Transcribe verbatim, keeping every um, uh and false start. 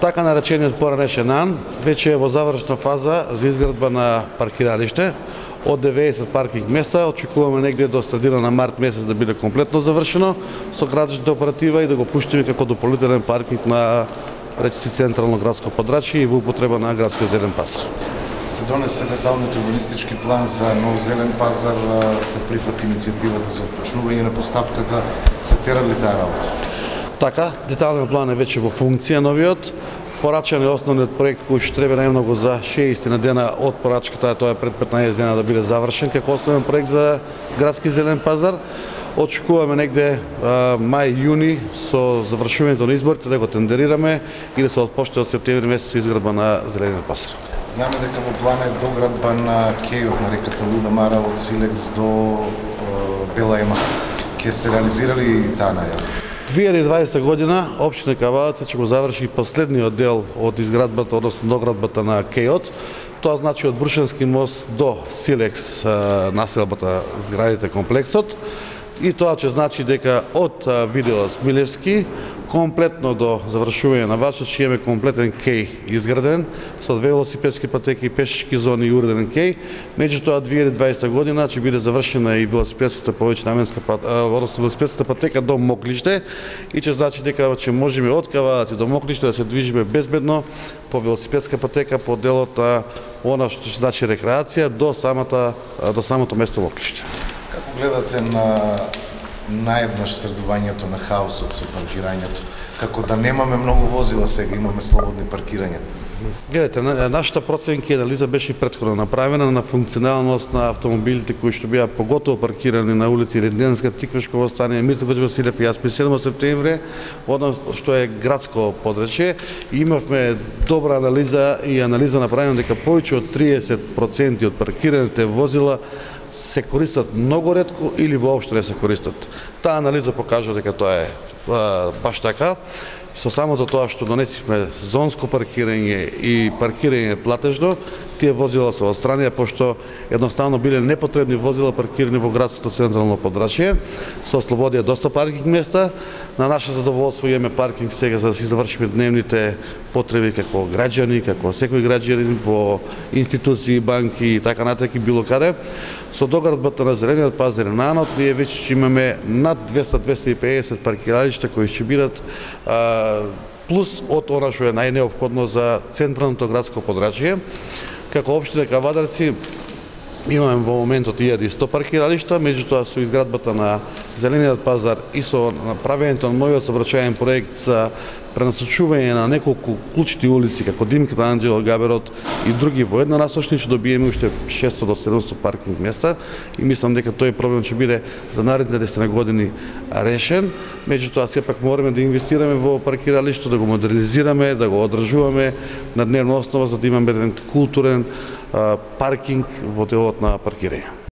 Така наречениот поранешен ан веќе е во завршна фаза за изградба на паркиралиште. Од деветдесет паркинг места очекуваме негде до средина на март месец да биде комплетно завршено со градичната оператива и да го пуштиме како дополнителен паркинг на речиси централно градско подрачје и во употреба на градскиот зелен пазар. Се донесе деталниот урбанистички план за нов зелен пазар, се прифати иницијативата за отпочнување на постапката, се тера ли таа работа? Така, деталниот план е веќе во функција новиот. Порачан е основниот проект кој што треба најмногу за шеесет дена од порачката, тоа е пред петнаесет дена да биде завршен како основен проект за градски зелен пазар. Очекуваме негде мај-јуни со завршувањето на изборите да го тендерираме и да се отпочне од септември месец изградба на зелениот пазар. Знаме дека во план е доградба на кејот на реката Луда Мара од Силекс до Бела Ема. Ке се реализира ли таа најава? две илјади и дваесета година општина Кавалец ќе го заврши последниот дел од изградбата, односно доградбата на кејот. Тоа значи од Брушенски мост до Силекс населбата, зградите, комплексот. И тоа ќе значи дека од Видео Смилевски комплетно до завршување на Вачот ќе имаме комплетен кеј изграден со две велосипедски патеки, пешачки зони и уреден кеј. Меѓутоа две илјади и дваесета година ќе биде завршена и велосипедската повеќнаменска односно велосипедската патека до Моклиште и ќе значи дека ќе можеме од Кавалец до Моклиште да се движиме безбедно по велосипедска патека по делот на она што ќе значи рекреација до самата до самото место Моклиште. Како гледате на наеднаш средувањето на хаосот со паркирањето, како да немаме многу возила сега, имаме слободни паркирања? Гледате, нашата проценка и анализа беше претходно направена на функционалност на автомобилите кои што беа поготово паркирани на улици Реденска, Тиквешково стание, Митро Гоџе Василев и Јаспи седми септември, односно што е градско подрачје. Имавме добра анализа и анализа направена дека повеќе од триесет проценти од паркираните возила се користат многу ретко или воопшто не се користат. Таа анализа покажа дека тоа е баш така. Со самото тоа што донесивме зонско паркирање и паркирање платежно, тие возила се отстранија пошто едноставно биле непотребни возила паркирани во градското централно подрачје. Се ослободија доста паркинг места. На наше задоволство имаме паркинг сега за да си завршиме дневните потреби како граѓани, како секој граѓанин во институции, банки и така натаму било каде. Со доградбата на зелениот пазар на Анот, ние веќе имаме над двеста до двеста и педесет паркиралишта кои ќе бидат а, плюс од она што е најнеопходно за централното градско подрачје. Како општина Кавадарци имаме во моментот илјада и сто паркиралишта, меѓутоа со изградбата на зелениот пазар и со направењето на новиот сообраќајен проект за пренасочување на неколку клучни улици како Димката Анџело Габерот и други во еднонасочни ќе добиеме уште шестоста до седумстотини паркинг места и мислам дека тој проблем ќе биде за наредните десет години решен. Меѓутоа сепак мораме да инвестираме во паркиралишто, да го модернизираме, да го одржуваме на дневна основа за да имаме еден културен паркинг во делот на паркирање.